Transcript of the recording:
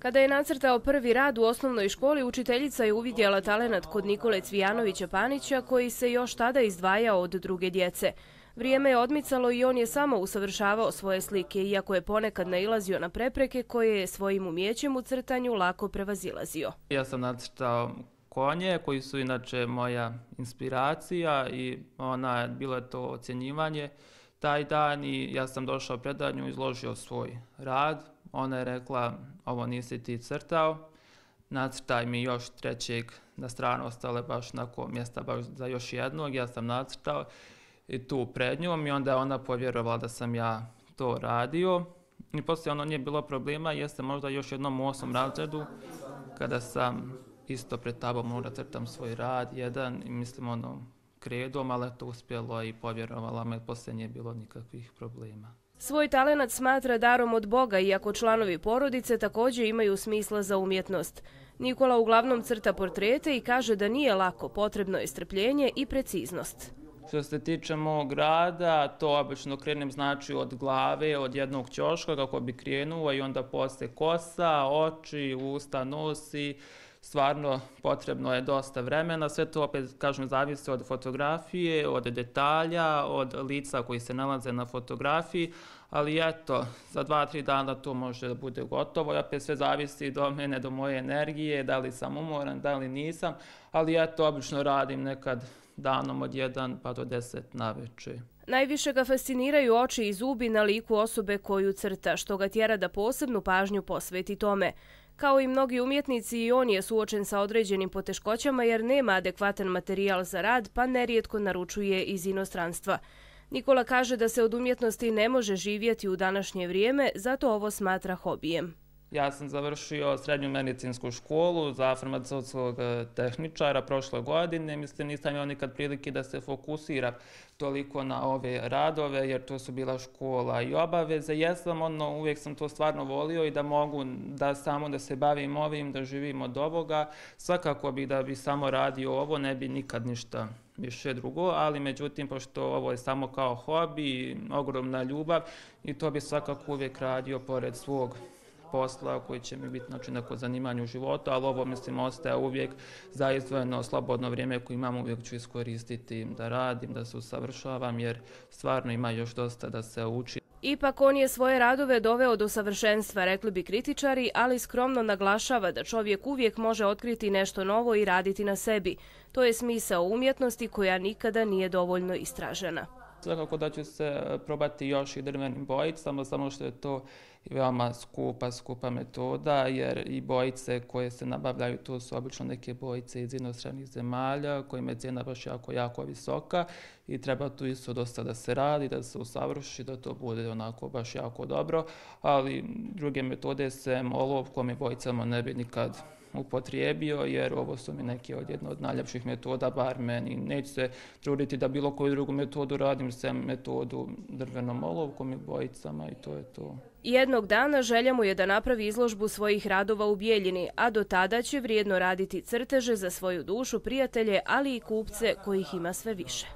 Kada je nacrtao prvi rad u osnovnoj školi, učiteljica je uvidjela talenat kod Nikole Cvijanovića Panića, koji se još tada izdvajao od druge djece. Vrijeme je odmicalo i on je samo usavršavao svoje slike, iako je ponekad nailazio na prepreke koje je svojim umijećem u crtanju lako prevazilazio. Ja sam nacrtao konje koji su inače moja inspiracija i bilo je to ocjenjivanje taj dan i ja sam došao pred nju, izložio svoj rad. Ona je rekla, ovo nisi ti crtao, nacrtaj mi još trećeg na stranu, ostale baš onako mjesta baš za još jednog, ja sam nacrtao i tu pred njom i onda je ona povjerovala da sam ja to radio. I poslije nije bilo problema, jeste možda još jednom u 8. razredu kada sam isto pred tabom morao da crtam svoj rad, jedan i mislim kredom, ali to uspjelo i povjerovala me, poslije nije bilo nikakvih problema. Svoj talenat smatra darom od Boga, iako članovi porodice također imaju smisla za umjetnost. Nikola uglavnom crta portrete i kaže da nije lako, potrebno je strpljenje i preciznost. Što se tiče mog rada, to obično krenem znači od glave, od jednog ćoška kako bi krenuo i onda poslije kosa, oči, usta, nosi. Stvarno potrebno je dosta vremena, sve to opet kažem zavisi od fotografije, od detalja, od lica koji se nalaze na fotografiji, ali eto, za 2-3 dana to može da bude gotovo i opet sve zavisi do mene, do moje energije, da li sam umoran, da li nisam, ali eto, obično radim nekad danom od 1 pa do 10 navečer. Najviše ga fasciniraju oči i zubi na liku osobe koju crta, što ga tjera da posebnu pažnju posveti tome. Kao i mnogi umjetnici, i on je suočen sa određenim poteškoćama jer nema adekvatan materijal za rad, pa nerijetko naručuje iz inostranstva. Nikola kaže da se od umjetnosti ne može živjeti u današnje vrijeme, zato ovo smatra hobijem. Ja sam završio srednju medicinsku školu za farmaceutskog tehničara prošle godine. Mislim, nisam imao nikad prilike da se fokusira toliko na ove radove, jer to su bila škola i obaveze. Uvijek sam to stvarno volio i da mogu da se bavim ovim, da živim od ovoga. Svakako da bi samo radio ovo, ne bi nikad ništa više drugo, ali međutim, pošto ovo je samo kao hobi, ogromna ljubav i to bi svakako uvijek radio pored svog posla koji će mi biti neko zanimanje u životu, ali ovo mislim ostaje uvijek za izdvojeno slobodno vrijeme koje imam, uvijek ću iskoristiti da radim, da se usavršavam jer stvarno ima još dosta da se uči. Ipak on je svoje radove doveo do savršenstva, rekli bi kritičari, ali skromno naglašava da čovjek uvijek može otkriti nešto novo i raditi na sebi. To je smisao umjetnosti koja nikada nije dovoljno istražena. Svakako da ću se probati još i drvenim bojicama, samo što je to veoma skupa metoda, jer i bojice koje se nabavljaju, to su obično neke bojice iz inostranih zemalja, kojima je cijena baš jako visoka i treba tu isto dosta da se radi, da se usavrši, da to bude onako baš jako dobro, ali druge metode sem olovkom i bojicama ne bi nikad upotrijebio, jer ovo su mi neke jedna od najljepših metoda, bar meni. Neću se truditi da bilo koju drugu metodu radim, sem metodu drvenom olovkom i bojicama i to je to. Jednog dana želja mu je da napravi izložbu svojih radova u Bijeljini, a do tada će vrijedno raditi crteže za svoju dušu, prijatelje, ali i kupce kojih ima sve više.